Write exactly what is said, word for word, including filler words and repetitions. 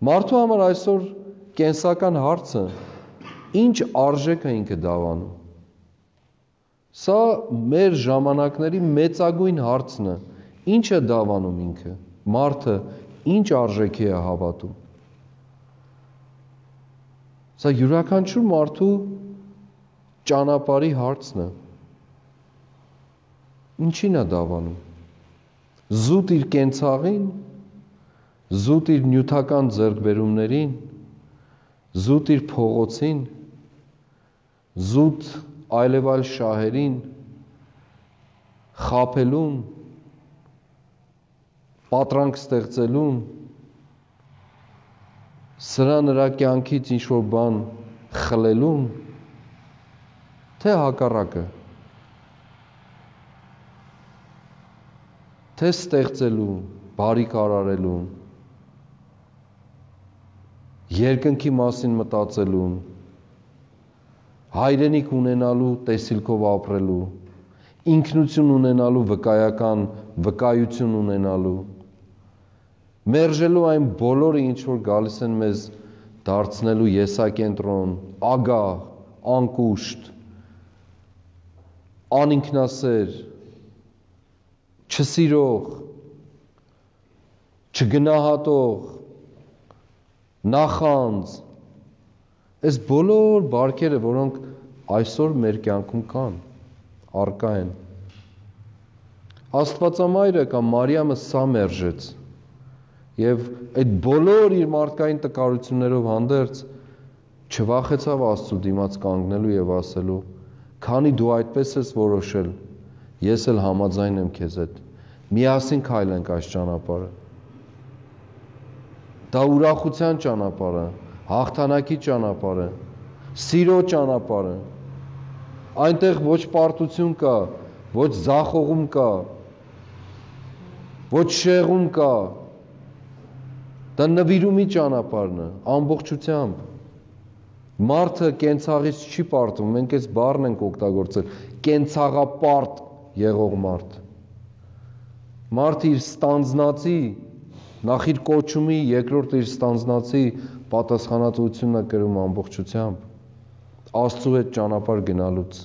Մարդու համար այսօր կենսական հարցը ինչ արժեք է ինքը դավանում։ Սա մեր ժամանակների մեծագույն հարցն է, ինչ է դավանում ինքը, մարդը ինչ արժեքի է հավատում։ Սա յուրաքանչյուր մարդու ճանապարհի հարցն է։ Ինչին է դավանում։ Զուտ իր կենցաղին, զուտ իր նյութական ձեռքբերումներին, զուտ իր փողոցին, զուտ այլևայլ շահերին, խաբելուն, պատրանք ստեղծելուն, սրա նրա կյանքից ինչ-որ բան խլելուն, թե հակառակը, թե ստեղծելուն, բարիք արարելուն, երկնքի մասին մտածելուն, հայրենիք ունենալու տեսիլքով ապրելու, ինքնություն ունենալու վկայական վկայություն ունենալու, մերժելու այն բոլորը, ինչ որ գալիս են մեզ դարձնելու եսակենտրոն, ագահ, անկուշտ, անինքնասեր, չսիրող, չգնահատող, նախանձ, այս բոլոր բարքերը, որոնք այսօր մեր կյանքում կան, առկա են։ Աստվածամայրը կամ Մարիամը սա մերժեց եւ այդ բոլոր իր մարդկային տկարություններով հանդերձ չվախեցավ Աստծու դիմաց կանգնելու եւ ասելու. «Քանի դու այդպես ես որոշել, ես էլ համաձայն եմ քեզ հետ։ Միասին քայլենք այս ճանապարհը»։ Դա ուրախության ճանապարհ է, հաղթանակի ճանապարհ է, սիրո ճանապարհ է։ Այնտեղ ոչ պարտություն կա, ոչ ձախողում կա, ոչ շեղում կա։ Դա նվիրումի ճանապարհն է, ամբողջությամբ։ Մարդը կենցաղից չի պարտվում, մենք այս բառն ենք օգտագործել, կենցաղապարտ եղող մարդ։ Մարդը իր ստանձնածի, նախ իր կոչումի, երկրորդ իր ստանձնածի պատասխանատվությունն է կրում ամբողջությամբ, Աստծու հետ ճանապարհ գնալուց։